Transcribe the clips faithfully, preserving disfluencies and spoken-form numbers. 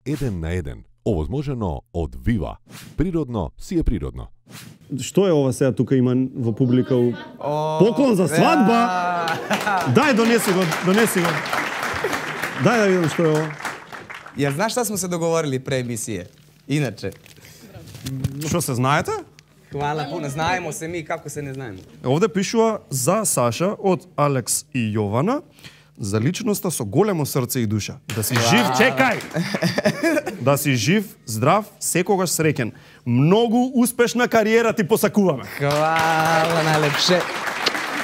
Еден на еден. Овозможено од Вива. Природно си е природно. Што е ова сега тука има во публика? Поклон за свадба. Дај донеси го, донеси го. Дај да видам што е ова. Ја знаеш што сме се договорили пре емисија? Иначе. Што се знаете? Хвала пуно, знаемо се ми како се не знаеме. Овде пишува за Саша од Алекс и Јована. За личноста со големо срце и душа. Да си жив, чекај! Да си жив, здрав, секогаш среќен. Многу успешна кариера ти посакуваме. Хвала најлепше.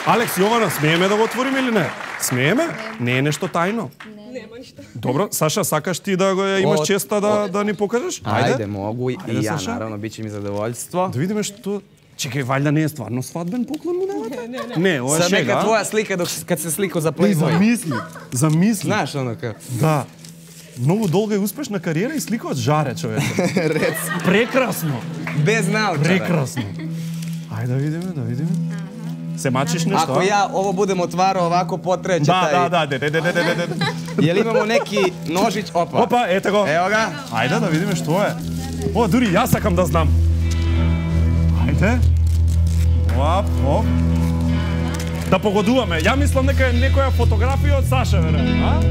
Алекс, Јована, смееме да го отвориме или не? Смееме? Не е нешто тајно. Нема ништо. Добро, Саша, сакаш ти да го имаш честа да да ни покажеш? Ајде, могу и Ајде, ја, Саша. наравно, биче ми задоволство. Да видиме што... Чекај, валјда не е стварно свадбен поклон му давате? Не, не, не. Не, ова е Са шега. нека твоја слика док кад се слика за Не, Playboy. замисли, замисли. Знаеш оно како? Да. Многу долга и успешна кариера и слика од жаре, човече. Рец. Прекрасно. Без научара. Прекрасно. Ајде да видиме, да видиме. Се мачиш нешто? Ако ја ово будем отварao овако потреće Да, тај... да, да, де, де, де, де, де, де. Јел имамо неки ножиć? Опа. Опа, ете го. Ево га. Ајде да видиме што е. О, дури јас сакам да знам. Ајде. Оп, оп. Да погодуваме. Ја мислам дека е некоја фотографија од Саша, веројатно, а?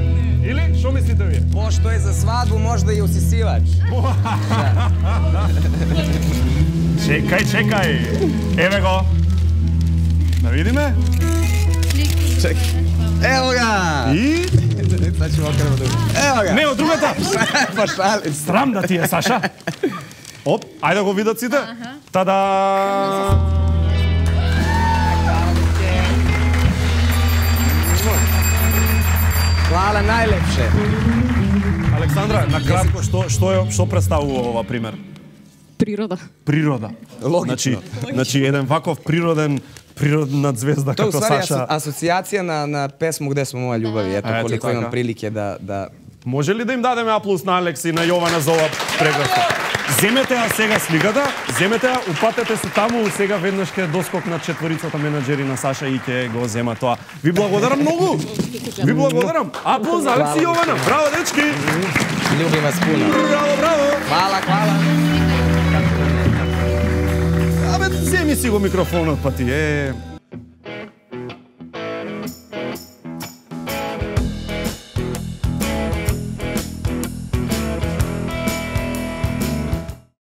Или што мислите вие? Пошто е за свадбу, можда и усисивач. Чекај, чекај. Еве го. Да видиме. Чекај. Ево га. И Сега ќе окремо друго. Ево га. не од другата. Па шалим се. Срам да ти е, Саша. Оп, ајде да го видат сите. Тада. Хвала најлепше. Александра, на кратко што што е што представува ова пример? Природа. Природа. Логично. Значи, значи еден ваков природен природна звезда Тоа како уствари Саша. асоциација на на песму Где смо моја љубави. Ето Ето колико така. имам прилике да да Може ли да им дадеме аплауз на Алекс и на Јована за ова прекрасно? Земете ја сега сликата, земете ја, упатете се таму, сега веднаш ќе доскок на четворицата менаџери на Саша и ќе го зема тоа. Ви благодарам многу. Ви благодарам. Аплауз за Алекс и Јована. Браво, дечки. љубим вас пуно. Браво, браво. Хвала, хвала. Абе, земи си го микрофонот, па ти е.